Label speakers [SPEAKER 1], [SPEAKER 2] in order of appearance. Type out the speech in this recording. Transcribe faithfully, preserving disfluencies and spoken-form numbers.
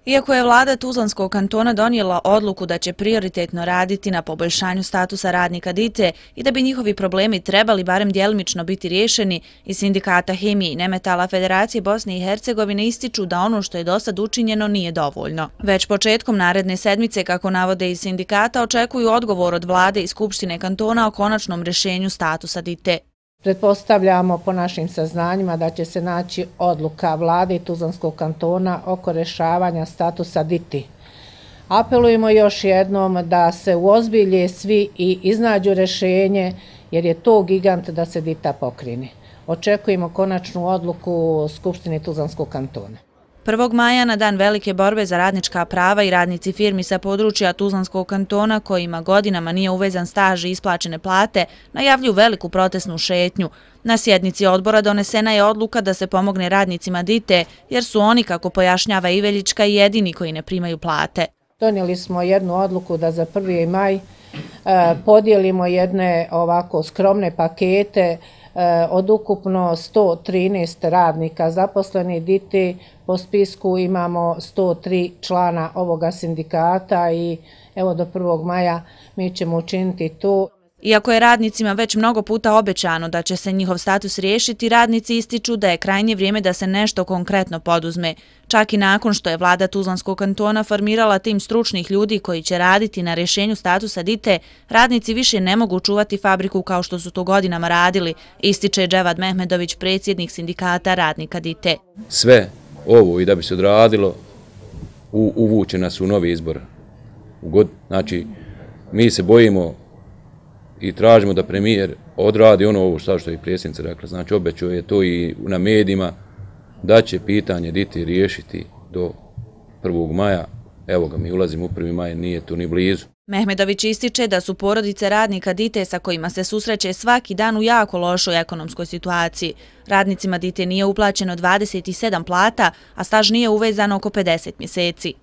[SPEAKER 1] Iako je vlada Tuzlanskog kantona donijela odluku da će prioritetno raditi na poboljšanju statusa radnika D I T E i da bi njihovi problemi trebali barem djelimično biti riješeni, iz sindikata Hemije i Nemetala Federacije Bosne i Hercegovine ističu da ono što je dosad učinjeno nije dovoljno. Već početkom naredne sedmice, kako navode iz sindikata, očekuju odgovor od vlade i Skupštine kantona o konačnom rješenju statusa D I T E.
[SPEAKER 2] Pretpostavljamo po našim saznanjima da će se naći odluka vlade i Tuzlanskog kantona oko rješavanja statusa D I T E. Apelujemo još jednom da se uozbilje svi i iznađu rješenje, jer je to gigant da se D I T A pokrene. Očekujemo konačnu odluku Skupštine Tuzlanskog kantona.
[SPEAKER 1] prvog maja, na dan velike borbe za radnička prava, i radnici firmi sa područja Tuzlanskog kantona, kojima godinama nije uvezan staž i isplaćene plate, najavljuju veliku protestnu šetnju. Na sjednici odbora donesena je odluka da se pomogne radnicima D I T E, jer su oni, kako pojašnjava Iveljička, jedini koji ne primaju plate.
[SPEAKER 2] Donijeli smo jednu odluku da za prvi maj podijelimo jedne ovako skromne pakete od ukupno sto trinaest radnika zaposlenih D I T E. Po spisku imamo sto tri člana ovoga sindikata i evo do prvog maja mi ćemo učiniti to.
[SPEAKER 1] Iako je radnicima već mnogo puta obećano da će se njihov status riješiti, radnici ističu da je krajnje vrijeme da se nešto konkretno poduzme. Čak i nakon što je vlada Tuzlanskog kantona formirala tim stručnih ljudi koji će raditi na rješenju statusa D I T E, radnici više ne mogu čuvati fabriku kao što su to godinama radili, ističe Dževad Mehmedović, predsjednik sindikata radnika D I T E.
[SPEAKER 3] Sve ovo i da bi se odradilo, uvuče nas u novi izbor. Znači, mi se bojimo i tražimo da premijer odradi ono ovo što je i predsjednica rekla. Znači, obećao je to i na medijima da će pitanje D I T E riješiti do prvog maja. Evo ga, mi ulazimo u prvi maj, nije tu ni blizu.
[SPEAKER 1] Mehmedović ističe da su porodice radnika D I T E sa kojima se susreće svaki dan u jako lošoj ekonomskoj situaciji. Radnicima D I T E nije uplaćeno dvadeset sedam plata, a staž nije uvezan oko pedeset mjeseci.